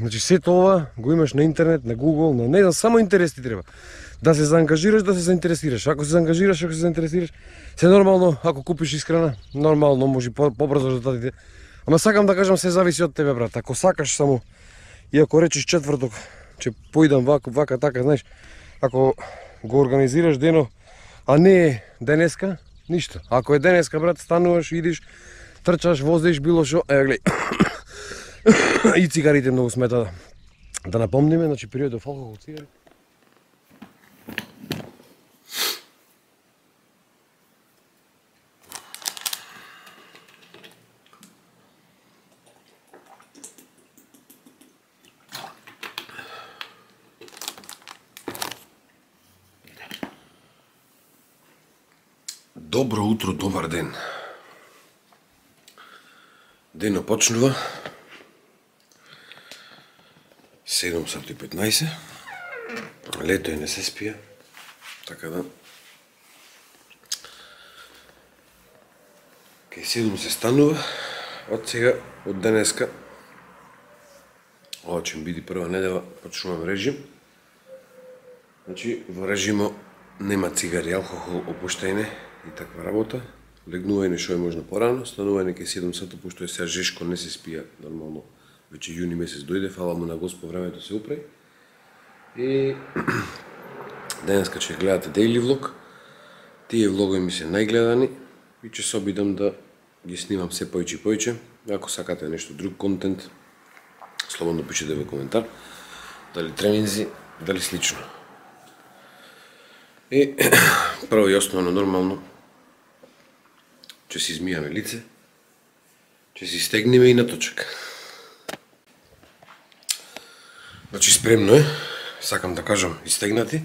Значи сето ова го имаш на интернет, на Google, на не знам, само интерес ти треба. Да се заангажираш, да се заинтересираш. Ако се заангажираш, ако се заинтересираш, се нормално, ако купиш искрена, нормално може побрзо резултатите. Ама сакам да кажам, се зависи од тебе, брат. Ако сакаш само и ако речеш четврток, че поидам вака така, знаеш, ако го организираш дено, а не денеска, ништо. Ако е денеска, брат, стануваш, идиш, трчаш, возиш, било шо, гледај. И цигарите многу смета да напомниме, значи периодов алкохол, цигари. Добро утро, добар ден. Денот почнува 7:15. Лето не се спија, така да кај 7 се станува. Од сега, од денеска, ова ќе биде прва недела, почнувам режим. Значи, во режимо нема цигари, алкохол, опуштање и таква работа. Легнување што е можно порано, станување кај 7 сата, пошто е сега жешко, не се спија нормално. Веќе јуни месец дојде, фала му на Господ, времето се упре. И денеска ќе гледате daily влог. Тие влогови ми се најгледани и ќе се обидам да ги снимам се поиќе и поиќе. Ако сакате нешто друг контент, слободно пишете во коментар. Дали тренинзи, дали слично. И прво и основно нормално ќе си измијаме лице, ќе си стегнеме и на точак. Значи спремно е, сакам да кажам, истегнати,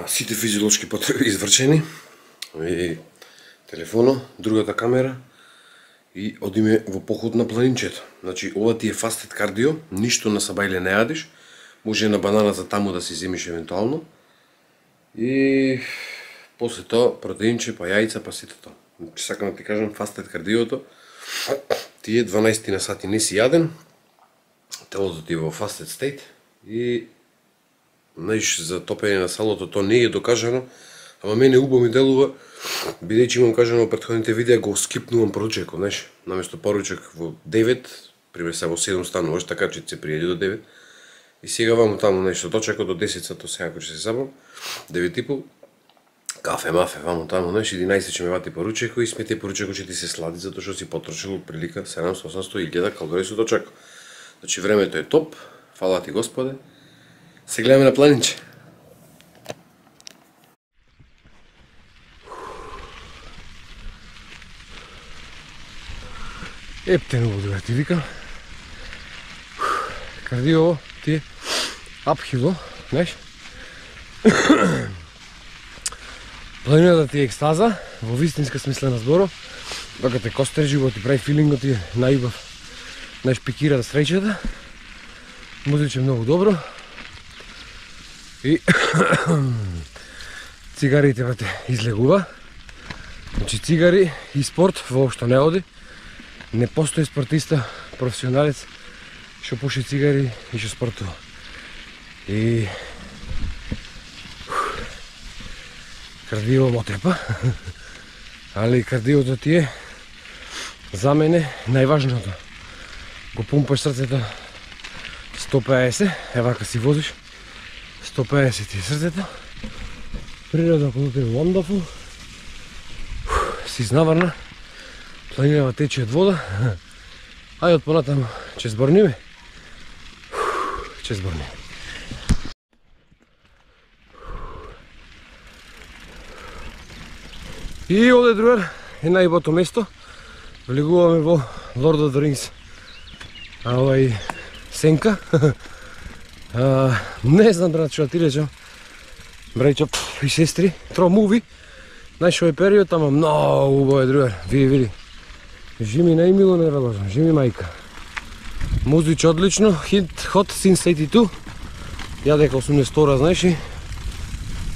сите физиолошки потреби извршени, и телефоно, другата камера и одиме во поход на планинчето. Значи ова ти е фастет кардио, ништо на сабајле не јадиш, може на бананата таму да си земиш евентуално и после тоа протеинче, па јајца, па сето тоа. Значи сакам да ти кажам, фастет кардиото, тие 12 на сати не си јаден, телото ти е во фастет стейт и знаеш, за топење на салото тоа не е докажано, ама мене убаво ми делува, бидејќи имам кажано во претходните видеа, го скипнувам поручекот, знаеш, наместо поручек во 9, пример се во 7 стануваш, така че се пријади до 9, и сега ваму таму нешто точекот до 10 сато сега кој ќе се сабам, 9:30, кафе, мафе, ваму таму, знаеш, 11 ќе ме вати поручеко и смете поручеко ќе ти се слади, затоа што си потрошил прилика 700, 800 и 1000 калории со точеко. Значи времето е топ, фала ти Господе, се гледаме на планинче. Ептено го ти викам. Кардио ти е апхило, знаеш? Планината ти е екстаза, во вистинска смисла на зборот, докато те костер живот и прави филингот ти е најубав. Знаеш, пикира да среќата, музиче многу добро и цигарите вате излегува. Значи цигари и спорт воопшто не оди. Не постои спортиста, професионалец што пуши цигари и што спортува. И кардио мотрепа, али кардиото ти е за мене најважното. Го пумпаш срцето 150, вака си возиш, 150 ти е срцето, природа околу тебе wonderful, си изнаварна, планинава тече од вода, ај од понатаму ќе зборниме, ќе зборниме. И овде другар е најубавото место, влегуваме во Lord of the Rings. Сенка. Не знам, брат, што ти речам. Брајчо и сестри, тро муви. Знаеш, овој период, ама многу убаво е, другар. Види. Жими најмило не велажам, жими мајка. Музич одлично, hit hot since 82. Ја дека 82-ра, знаеш и?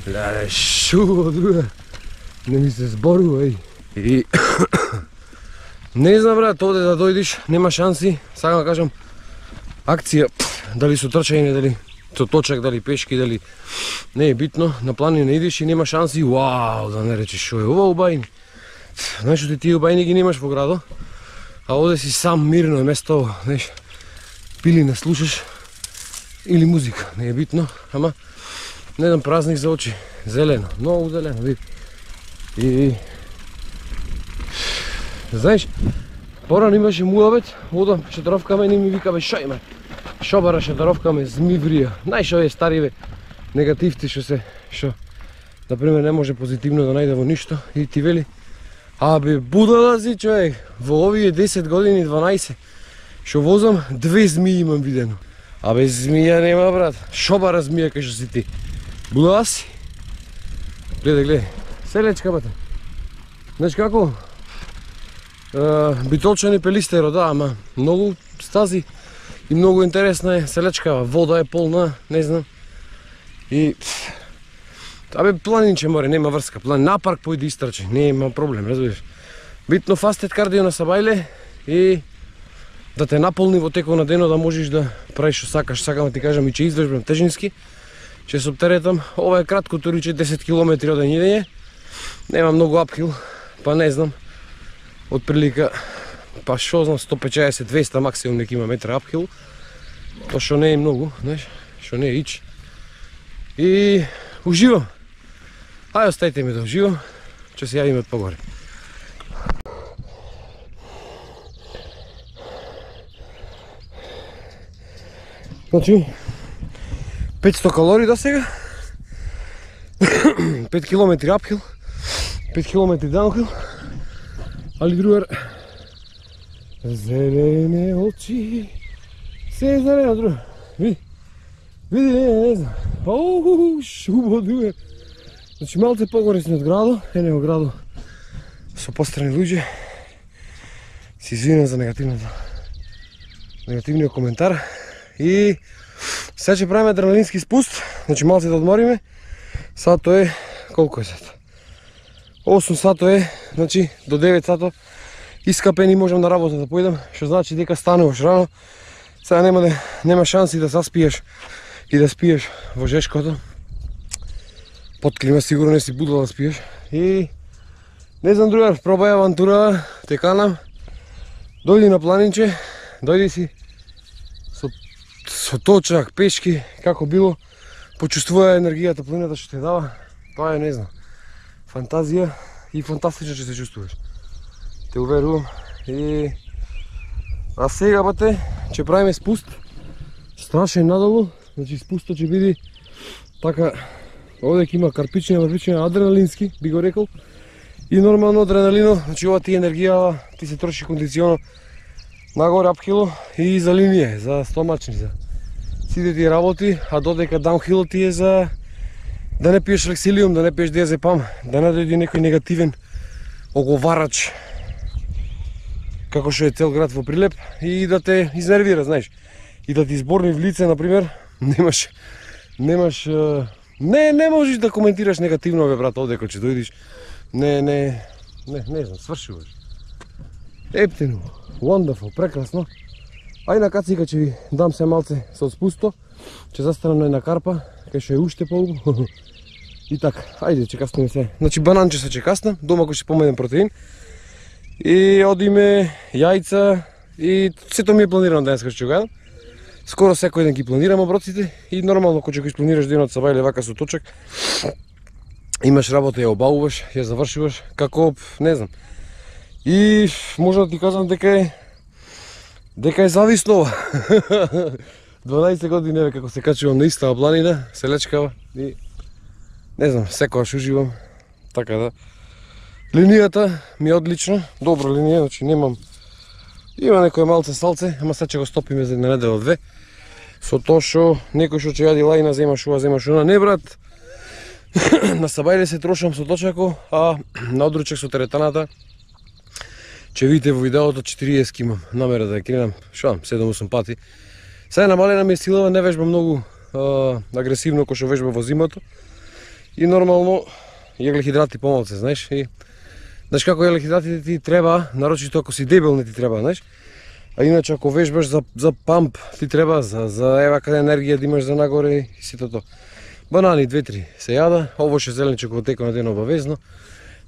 Леле, шуго, другар. Не ми се зборува, И не знам, брат, овде да дојдиш, нема шанси. Сакам да кажам, акција, дали со трчање, дали со точак, дали пешки, дали не е битно, на планина идеш и нема шанси, вау, да не речеш шо е ова у бајни. Знаеш што тие бајни ги немаш во градо, а оде си сам мирно е место, знаеш, пилина слушаш или музика, не е битно, ама не еден празник за очи, зелено, многу зелено, види. И знаеш, порано имаше муабет, одам шетаровкаме и ми викаме шо има. Шо бара шетаровкаме, змиврија. Знаеш овие стариве негативти што например не може позитивно да најде во ништо и ти вели абе будала си човек, во овие 10 години 12 што возам 2 змии имам видено. Абе змија нема брат, шо бара змија кај што си ти? Будала си? Гледај, селечка бате. Знаеш како? Битолчани пелистеро, да, ама многу стази и многу интересна е селечкава, вода е полна, не знам. И абе планинче море, нема врска, на парк појди истрчи, нема проблем, разбираш. Битно фастет кардио на сабајле и да те наполни во текот на денот, да можеш да правиш што сакаш. Сакам да ти кажам и че извежбам тежински, че се оптеретам, ова е кратко туриче 10 км одење идење, нема многу апхил, па не знам, отприлика, па шо знам, 150-200 максимум нека има метра апхил, то што не е многу, знаеш, што не е ич. И уживам. Ајде оставите ми да уживам, ќе се јавиме од погоре. Значи, 500 калории до сега, 5 км апхил, 5 км даунхил, али другар, зелени очи, се зелено друг, види, не знам, шубо другар. Значи малце погоре сме од градо, во градо со пострани луѓе, се извинам за негативниот коментар и сега ќе правиме адреналински спуст, значи малце да одмориме, сато е, колко е сато? 8 сато е, значи до 9 сато искапени можам на работа да појдам, што значи дека стануваш рано, сега нема шанси да заспиеш и да спиеш во жешкото, под клима сигурно не си будала да спиеш и не знам другар, пробај авантура, те канам, дојди на планинче, дојди си со точак, пешки, како било, почувствувај енергијата, планината што те дава, тоа е, не знам, фантазија и фантастично ќе се чувствуваш. Те уверувам. И а сега бате, ќе правиме спуст, страшен надолу, значи спустот ќе биде така, овде ќе има карпичен, адреналински, би го рекол, и нормално адреналино, значи ова ти енергија, ти се троши кондиционо нагоре апхило и за линија, за стомачни, за сите тие работи, а додека даунхило ти е за да не пиеш лексилиум, да не пиеш диазепам, да не дојде некој негативен оговарач, како што е цел град во Прилеп, и да те изнервира, знаеш, и да ти изборни в лице, например, не можеш да коментираш негативно, бе брат, овде кога ќе дојдеш, не знам, свршуваш. Ептено, wonderful, прекрасно. Ај на кацика ќе ви дам се малце со спусто, ќе застанам на една карпа, кај што е уште поубаво. И така, ајде, ќе каснеме се. Значи бананче се ќе каснам, дома кој ќе помедем протеин. И одиме јајца и сето ми е планирано денеска што ќе го јадам. Скоро секој ден ги планирам оброците и нормално кога ќе го испланираш денот са бајле вака со точак, имаш работа, ја обавуваш, ја завршуваш, како, не знам. И може да ти кажам дека е зависно ова. 12 години еве како се качувам на истава планина, селечкава и не знам, секогаш уживам. Така да. Линијата ми е одлично, добра линија, значи немам. Има некој малце салце, ама сега ќе го стопиме за една недела две. Со тоа што некој што ќе јади лајна, земаш ова, земаш она. Не брат. На сабајле се трошам со точако, а на одручек со теретаната ќе видите во видеото 40 имам намера да ја кренам, што 7-8 пати. Сега намалена ми е силава, не вежба многу агресивно кој што вежба во зимото. И нормално јаглехидрати помалце, знаеш, и знаеш како јаглехидратите ти треба, нарочито ако си дебел не ти треба, знаеш. А иначе ако вежбаш за памп, ти треба за евака енергија да имаш за нагоре и сето тоа. Банани 2-3 се јада, овоше зеленче во текот на ден обавезно.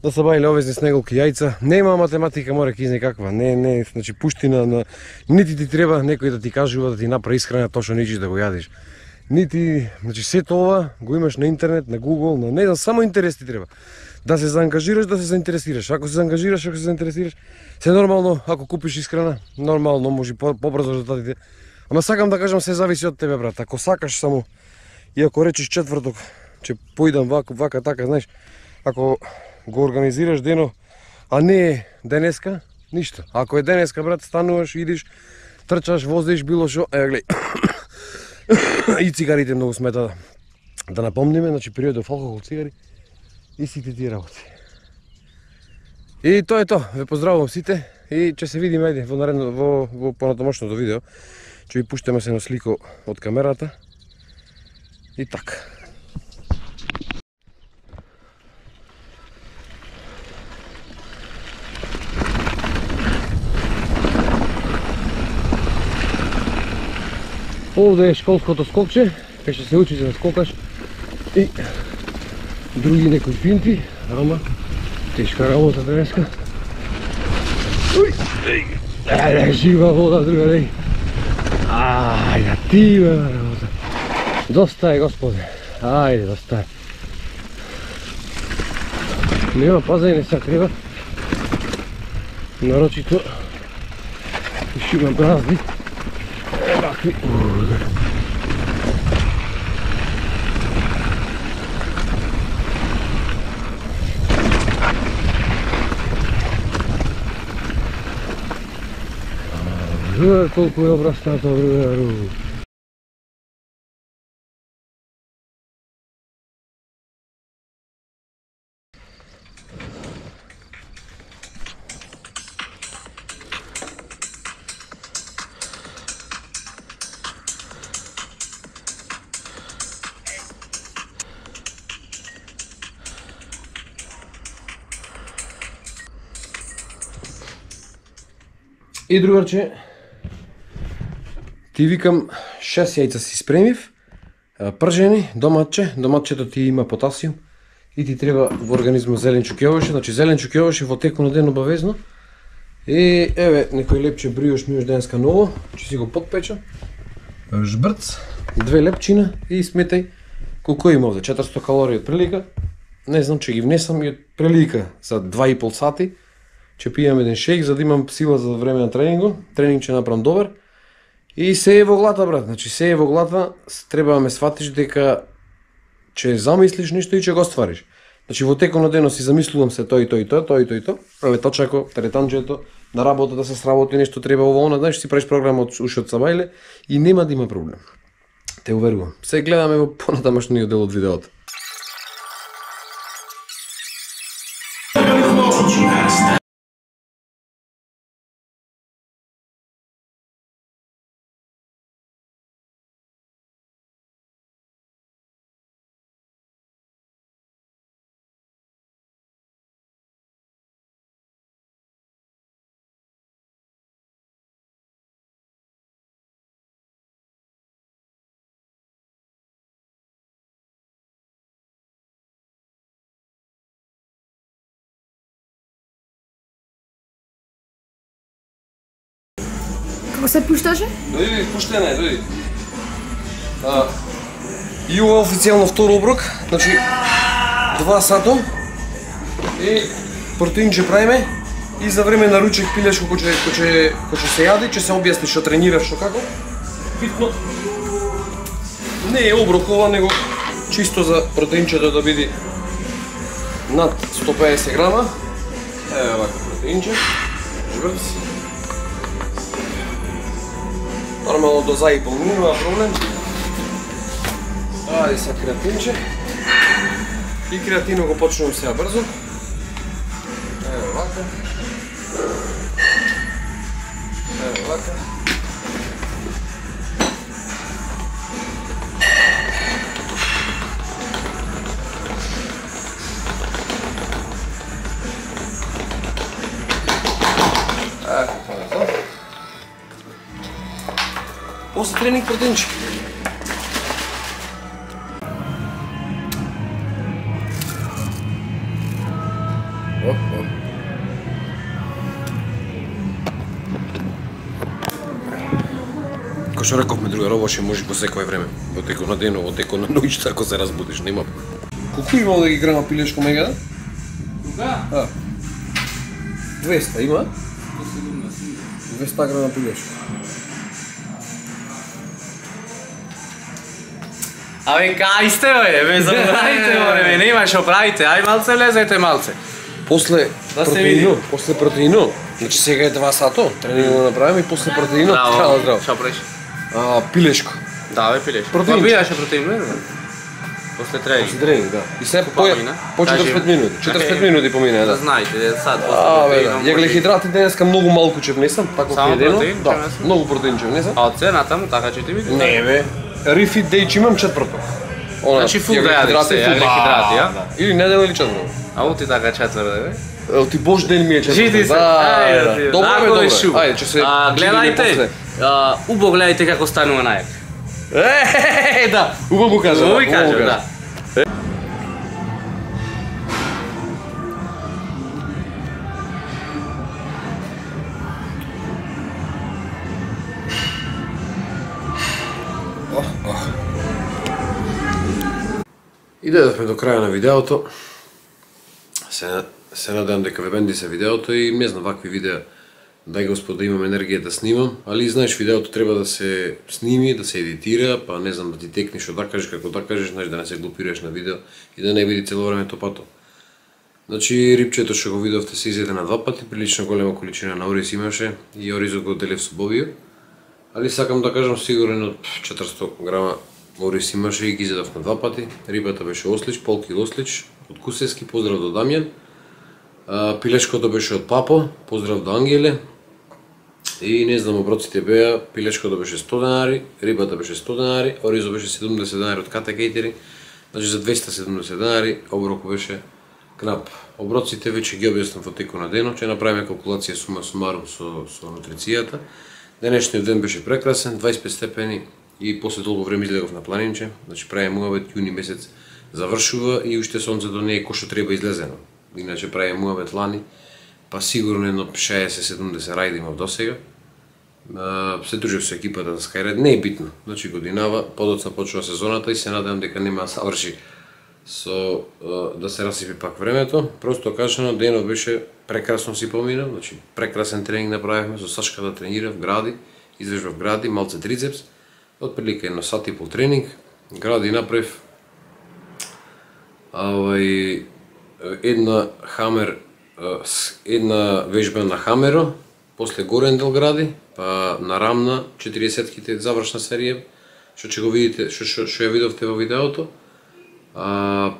Да се бајле овезни снеголки јајца. Нема математика, мора кизне каква. Не, значи пуштина на нити ти треба некој да ти кажува да ти направи исхрана точно ничи да го јадиш. Нити, значи сето ова го имаш на интернет, на Google, на не знам, само интерес ти треба. Да се заангажираш, да се заинтересираш. Ако се заангажираш, ако се заинтересираш, се нормално, ако купиш исхрана, нормално може побрзо резултатите. Ама сакам да кажам, се зависи од тебе, брат. Ако сакаш само и ако речеш четврток, че поидам вака така, знаеш, ако го организираш дено, а не е денеска, ништо. Ако е денеска, брат, стануваш, идиш, трчаш, возиш, било шо, гледај. И цигарите многу смета да напомниме, значи периодов алкохол, цигари и сите тие работи. И тоа е тоа. Ве поздравувам сите и ќе се видиме ајде во понатамошното видео. Ќе ви пуштаме се на слико од камерата. И така. Овде е школското скокче, кај што се учиш да скокаш и други некои финти, ама тешка работа денеска. Жива вода, другари. Ајде, тива работа. Доста е, господе. Ајде, доста е. Нема пазање, не се треба. Нарочито ще имам празни. Вакви. Колко е обрастата, другару. И другарче, ти викам 6 јајца си спремив, пржени, доматчето ти има потасиум и ти треба во организмот зеленчук јогурт, значи зеленчук јогурт во текот на ден обавезно. И еве некој лепче бриош миош денеска ново, ќе си го подпечам. Жбрц, 2 лепчина и сметај колку има овде, 400 калории од прилика. Не знам, ќе ги внесам и од прилика за 2,5 сати. Ќе пијам еден шејк за да имам сила за време на тренингот. Тренинг ќе направам добар. И се е во глата, брат. Значи се е во глата, треба да ме сватиш дека ќе замислиш нешто и ќе го ствариш. Значи во текот на денот си замислувам се тоа и тоа и тоа, тоа и тоа и тоа. Праве точако, теретанџето, на работа да се сработи нешто треба ова она, знаеш, си правиш програма од уши од сабајле и нема да има проблем. Те уверувам. Се гледаме во понатамошниот дел од видеото. Како се пушташе? Дојди, пуштена е, дојди. И ова официјално втор оброк, значи 2 сато и протеинче правиме и за време на ручек пилеш кој ќе се јади, ќе се објасни што тренираш, што како. Битно не е оброк ова, него чисто за протеинчето да биде над 150 грама. Еве вака протеинче. Жбрц. Нормално до за и пол нема проблем. Ајде са креатинче. И креатино го почнувам сега брзо. Ево вака. Ево вака. тренинг протеинче. Кој што рековме друга роба, ќе може по секое време. Во текот на денот, во текот на ноќта, ако се разбудиш, нема. Колку имало да ги грама пилешко мега? Да. 200 има? 200 грама пилешко. Абе, кај сте, бе, ме забравите, море, нема што правите, ај малце влезете малце. После Да се протеино, види. после протеино. Значи сега е 2 сато, тренинг да направиме и после протеино, здраво. Што правиш? Пилешко. Да, бе, пилеш. Протеин. Ма биеше протеин, бе? После тренинг. После тренинг, да. И сега помина? по 45 минути. 45 минути помина, Да да. знаете, сад после Бе, да. протеином. Јаглехидрати денеска многу малку ќе внесам, тако Само едено. протеин ќе Да, внесам? многу протеин ќе внесам. А од цената му така ќе ти види? Не бе, Refit Day ќе имам четврток. Значи фул да јадеш се, јаглехидрати, ја? Или недела или четврток. А оти така четврде, бе? Ти Бож ден ми е четврток. Жити се. Да. Добро бе, добро. Ајде, ќе се гледајте, убо гледајте како станува најак. Да, убаво кажа. Убаво кажа, да. И дадовме до краја на видеото. Се надевам дека ве бенди се видеото и не знам вакви видеа дај Господ да имам енергија да снимам, али знаеш видеото треба да се сними, да се едитира, па не знам да ти текнеш што да кажеш како да кажеш, знаеш да не се глупираш на видео и да не види цело време топато. Значи рипчето што го видовте се изеде на 2 пати, прилично голема количина на ориз имаше и оризот го делев со бобио. Али сакам да кажам сигурен од 400 грама ориз имаше и ги изедов на 2 пати. Рибата беше ослич, полкил ослич од Кусевски, поздрав до Дамјан. Пилешкото беше од Папо, поздрав до Ангеле. И не знам, оброците беа, пилешкото беше 100 денари, рибата беше 100 денари, оризо беше 70 денари од Ката Кейтери, значи за 270 денари, оброко беше кнап. Оброците веќе ги објаснам во текот на денот, ќе направиме калкулација сума сумарум со нутрицијата. Денешниот ден беше прекрасен, 25 степени и после толку време излегов на планинче, значи правиме муабет, јуни месец завршува и уште сонцето не е кој што треба излезено. Иначе правиме муабет лани, па сигурно едно 60-70 рајди имав досега. Се дружив со екипата на Skyred, не е битно, значи годинава, подоцна почува сезоната и се надевам дека нема да заврши со да се расипи пак времето. Просто кажано, денот беше прекрасно си помина, значи прекрасен тренинг направивме, со Сашка да тренирав гради, извежбав гради, малце трицепс, отприлика едно сат и пол тренинг, гради направив една хамер, една вежба на хамеро, после горен дел гради, па на рамна 40-ките завршна серија, што ќе го видите, што ја видовте во видеото.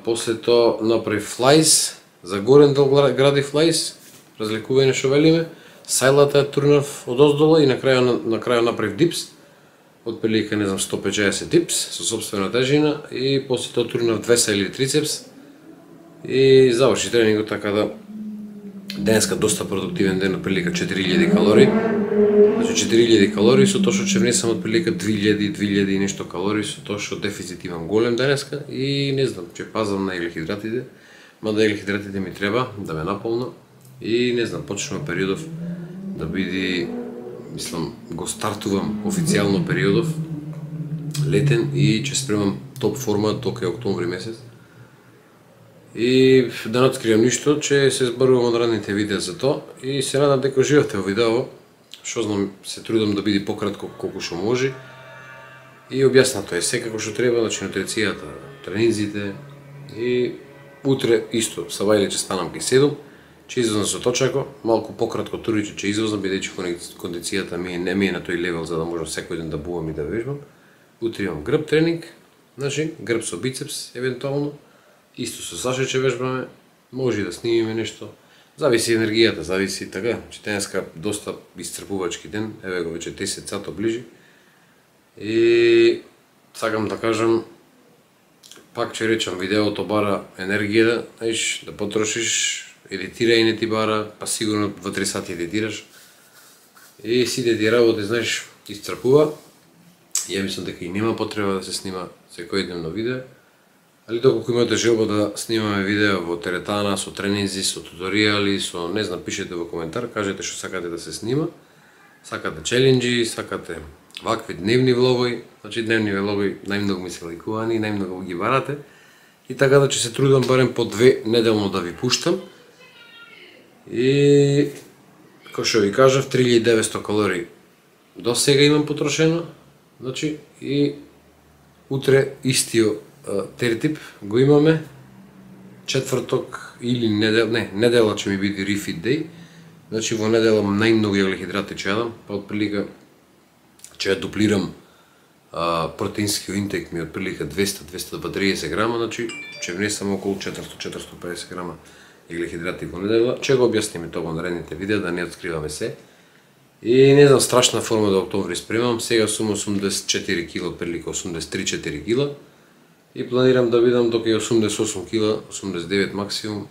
После тоа направи флайс, за горен дел гради флайс, разликување што велиме, сајлата ја турнав од оздола и на крај направив дипс, отприлика не знам 150 дипс со сопствена тежина и после тоа турнав 2 сајли трицепс и заврши тренингот, така да денеска доста продуктивен ден, отприлика 4000 калории. Значи 4000 калории со тоа што ќе внесам отприлика 2000 и нешто калории со тоа што дефицит имам голем денеска и не знам, ќе пазам на еглехидратите, мада еглехидратите ми треба да ме наполна и не знам, почнува периодов да биде, мислам, го стартувам официјално периодов летен и ќе спремам топ форма тока октомври месец. И да не откријам ништо, че се зборувам од ранните видеа за тоа и се надам дека живеете во видео, што знам, се трудам да биде пократко колку што може и објаснато е секако што треба, значи нутрицијата, тренинзите и утре исто, сабајле ќе станам кај 7, ќе извознам со точако, малку пократко туриче ќе извознам, бидејќи кондицијата не ми е на тој левел за да можам секој ден да бувам и да вежбам. Утре имам грб тренинг, значи грб со бицепс евентуално, исто со Саша ќе вежбаме, може и да снимиме нешто. Зависи енергијата, зависи така, че денеска доста исцрпувачки ден, еве го веќе 10 сато ближи. И сакам да кажам, пак ќе речам, видеото бара енергија, знаеш, да потрошиш, едитирај не ти бара, па сигурно 2-3 сати едитираш. И сите ти работи, знаеш, исцрпува. Ја мислам дека и нема потреба да се снима секојдневно видео, али доколку имате желба да снимаме видео во теретана, со тренинзи, со туторијали, со не знам, пишете во коментар, кажете што сакате да се снима, сакате челенџи, сакате вакви дневни влогови, значи дневни влогови најмногу ми се лајкувани, најмногу ги барате, и така да ќе се трудам барем по 2 неделно да ви пуштам. И како што ви кажав, 3900 калории до сега имам потрошено, значи и утре истиот тертип го имаме, четврток или недела ќе ми биде refeed day, значи во недела најмногу јаглехидрати ќе јадам, па отприлика ќе ја дуплирам протеинскиот интек ми отприлика 200-230 грама, значи ќе внесам околу 400-450 грама јаглехидрати во недела, ќе го објасниме тоа во наредните видеа, да не откриваме се. И не знам, страшна форма до октомври спремам, сега сум 84 кг, отприлика 83-4 кг, и планирам да бидам до кај 88 кг, 89 максимум,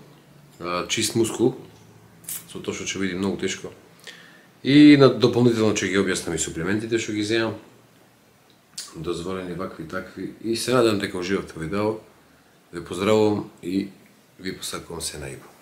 чист мускул, со тоа што ќе биде многу тешко. И дополнително ќе ги објаснам и суплементите што ги земам, дозволени вакви такви, и се надам дека уживавте во видео. Ве поздравувам и ви посакувам се најубаво.